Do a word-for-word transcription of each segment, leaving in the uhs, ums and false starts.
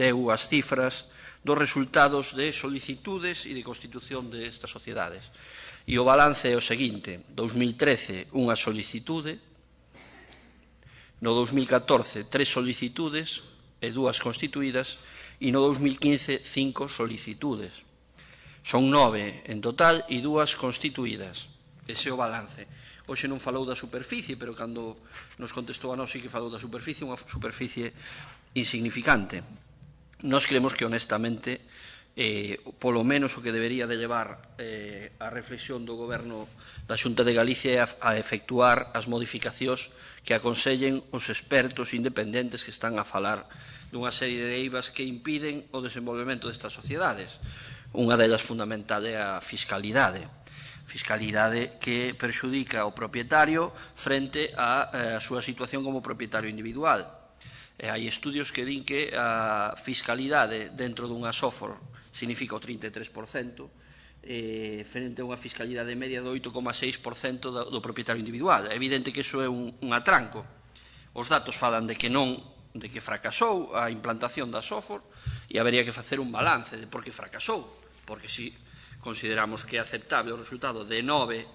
deu as cifras dos resultados de solicitudes e de constitución destas sociedades. E o balance é o seguinte: dous mil trece, unha solicitude; no dous mil catorce, tres solicitudes e dúas constituídas; e no dous mil quince, cinco solicitudes. Son nove en total e dúas constituídas. Ese é o balance. Hoxe non falou da superficie, pero cando nos contestou a nós sí que falou da superficie, unha superficie insignificante. Nós creemos que, honestamente, eh, polo menos o que debería de levar eh, a reflexión do Goberno da Xunta de Galicia é a, a efectuar as modificacións que aconsellen os expertos independentes que están a falar dunha serie de eivas que impiden o desenvolvemento destas sociedades. Unha delas fundamental é a fiscalidade. Fiscalidade que perxudica ao propietario frente á a súa situación como propietario individual. E hai estudios que din que a fiscalidade dentro dunha software significa o trinta e tres por cento eh, frente a unha fiscalidade media do oito coma seis por cento do, do propietario individual. É evidente que iso é un, un atranco. Os datos falan de que non, de que fracasou a implantación da software e habería que facer un balance de por que fracasou, porque se consideramos que é aceptable o resultado de nove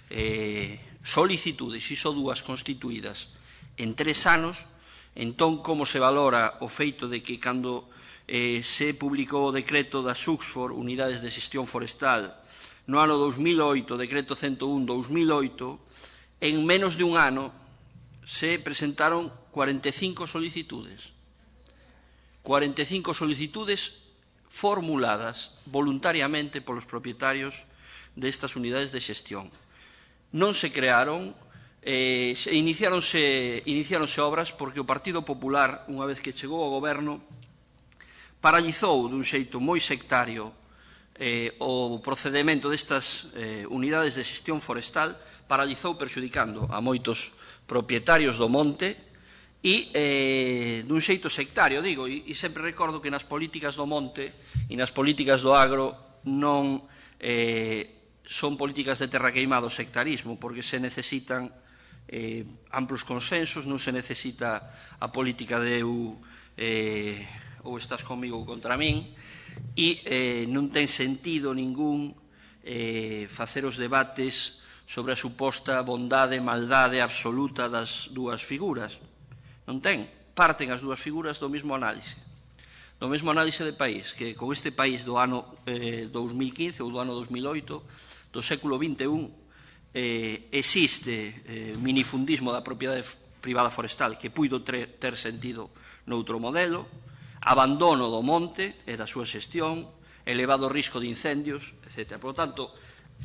eh, solicitudes e só dúas constituídas en tres anos, entón como se valora o feito de que cando eh, se publicou o decreto da Suxfor, Unidades de Xestión Forestal, no ano dous mil oito, decreto ciento un barra dous mil oito, en menos de un ano se presentaron cuarenta e cinco solicitudes. cuarenta e cinco solicitudes formuladas voluntariamente polos propietarios destas unidades de xestión. Non se crearon, eh, iniciáronse, iniciáronse obras porque o Partido Popular, unha vez que chegou ao goberno, paralizou dun xeito moi sectario eh, o procedemento destas eh, unidades de xestión forestal, paralizou perxudicando a moitos propietarios do monte e eh, dun xeito sectario, digo, e, e sempre recordo que nas políticas do monte e nas políticas do agro non eh, son políticas de terra queimado, sectarismo, porque se necesitan eh, amplos consensos, non se necesita a política de eu, eh, ou estás comigo ou contra min, e eh, non ten sentido ningún eh, facer os debates sobre a suposta bondade e maldade absoluta das dúas figuras. Non ten. Parten as dúas figuras do mesmo análise. Do mesmo análise de país, que con este país do ano eh, dous mil quince ou do ano dous mil oito, do século vinte e un, eh, existe eh, minifundismo da propiedade privada forestal que puido ter, ter sentido noutro modelo, abandono do monte e da súa xestión, elevado risco de incendios, etcétera. Por lo tanto,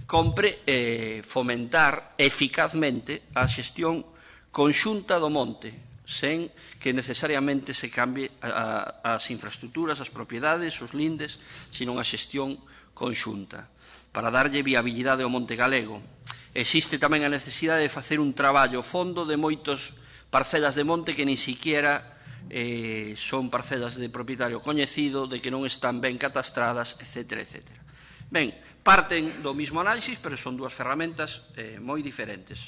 compre eh, fomentar eficazmente a xestión conxunta do monte, sen que necesariamente se cambie a, a, as infraestructuras, as propiedades, os lindes, sino a xestión conxunta, para darlle viabilidade ao monte galego. Existe tamén a necesidade de facer un traballo fondo de moitas parcelas de monte que ni siquiera eh, son parcelas de propietario coñecido, de que non están ben catastradas, etcétera, etcétera. Ben, parten do mismo análisis, pero son dúas ferramentas eh, moi diferentes.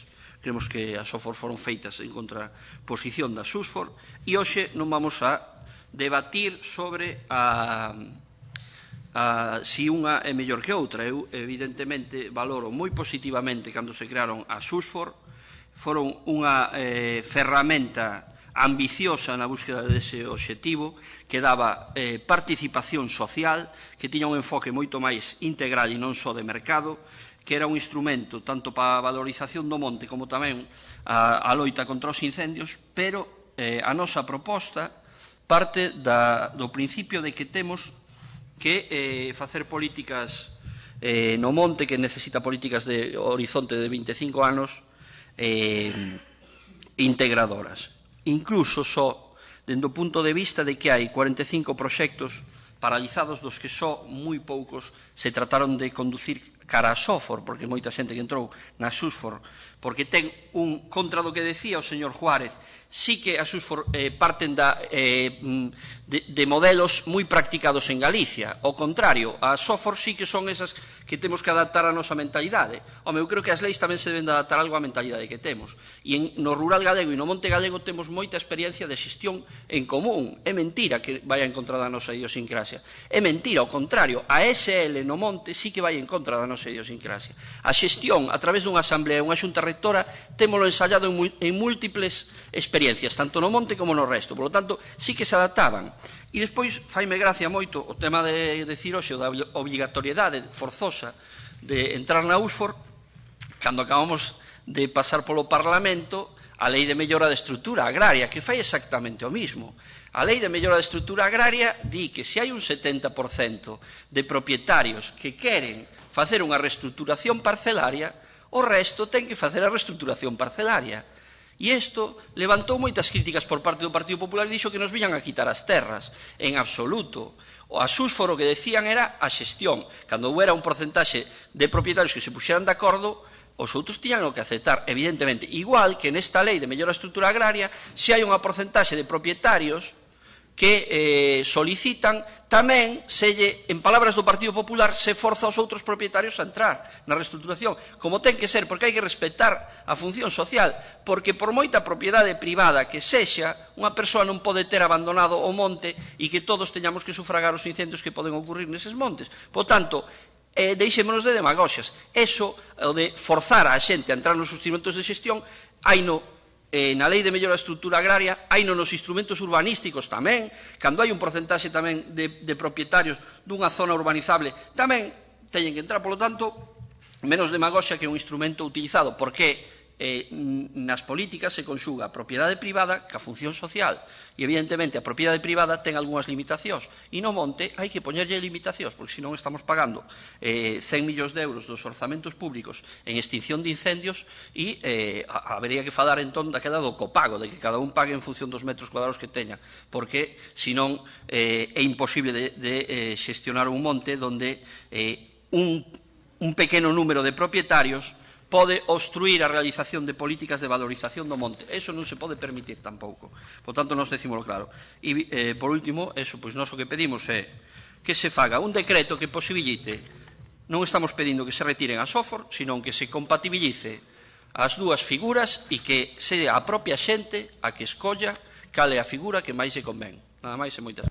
Creemos que as software foron feitas en contraposición da Suxfor e hoxe non vamos a debatir sobre a Uh, si unha é mellor que outra. Eu evidentemente valoro moi positivamente cando se crearon a Suxfor, foron unha eh, ferramenta ambiciosa na búsqueda dese obxectivo, que daba eh, participación social, que tiña un enfoque moito máis integral e non só de mercado, que era un instrumento tanto para a valorización do monte como tamén a, a loita contra os incendios, pero eh, a nosa proposta parte da, do principio de que temos que eh, facer políticas eh, no monte, que necesita políticas de horizonte de vinte e cinco anos eh, integradoras. Incluso só dende o punto de vista de que hai cuarenta e cinco proxectos paralizados, dos que só moi poucos se trataron de conducir cara a Suxfor, porque moita xente que entrou na Suxfor, porque ten un, contra do que decía o señor Juárez, sí que a Suxfor eh, parten da, eh, de, de modelos moi practicados en Galicia. Ao contrario, a Suxfor sí que son esas que temos que adaptar a nosa mentalidade. Home, eu creo que as leis tamén se deben de adaptar algo á mentalidade que temos. E en, no rural galego e no monte galego temos moita experiencia de xestión en común. É mentira que vai en contra da nosa idiosincrasia. É mentira, ao contrario, a S L no monte sí que vai en contra da nosa idiosincrasia. A xestión, a través dunha asamblea e unha xunta rectora, témolo ensayado en, en múltiples experiencias, tanto no monte como no resto. Por lo tanto, sí que se adaptaban. E despois, faime gracia moito o tema de decir hoxe da obrigatoriedade forzosa de entrar na U S F O R, cando acabamos de pasar polo Parlamento a Lei de Mellora de Estrutura Agraria, que fai exactamente o mismo. A Lei de Mellora de Estrutura Agraria di que se hai un setenta por cento de propietarios que queren facer unha reestruturación parcelaria, o resto ten que facer a reestruturación parcelaria. E isto levantou moitas críticas por parte do Partido Popular e dixo que nos viñan a quitar as terras. En absoluto. As U S F O R o que decían era a xestión. Cando huera un porcentaxe de propietarios que se puxeran de acordo, os outros tiñan o que aceptar, evidentemente. Igual que nesta lei de mellora da estrutura agraria, se hai unha porcentaxe de propietarios que eh, solicitan, tamén, se lle, en palabras do Partido Popular, se forza aos outros propietarios a entrar na reestruturación, como ten que ser, porque hai que respetar a función social, porque por moita propiedade privada que sexa, unha persoa non pode ter abandonado o monte e que todos teñamos que sufragar os incendios que poden ocurrir neses montes. Por tanto, eh, deixémonos de demagoxias. Eso, o de forzar a xente a entrar nos instrumentos de xestión, hai no Eh, na Lei de Mellora da Estrutura Agraria, hai nos instrumentos urbanísticos tamén, cando hai un porcentaxe tamén de, de propietarios dunha zona urbanizable, tamén teñen que entrar, polo tanto, menos demagoxia que un instrumento utilizado, porque eh, nas políticas se conxuga a propiedade privada ca función social, e evidentemente a propiedade privada ten algunhas limitacións, e no monte hai que poñerlle limitacións, porque senón estamos pagando eh, cen millóns de euros dos orzamentos públicos en extinción de incendios e eh, habería que falar entón daquela do copago, de que cada un pague en función dos metros cuadrados que teña, porque senón eh, é imposible de, de eh, xestionar un monte donde eh, un, un pequeno número de propietarios pode obstruir a realización de políticas de valorización do monte. Eso non se pode permitir tampouco. Por tanto, nos decímoslo claro. E, eh, por último, eso, pois nós o que pedimos é que se faga un decreto que posibilite, non estamos pedindo que se retiren as O F O R, senón que se compatibilice as dúas figuras e que sea a propia xente a que escolla cal é a figura que máis se convén. Nada máis e moitas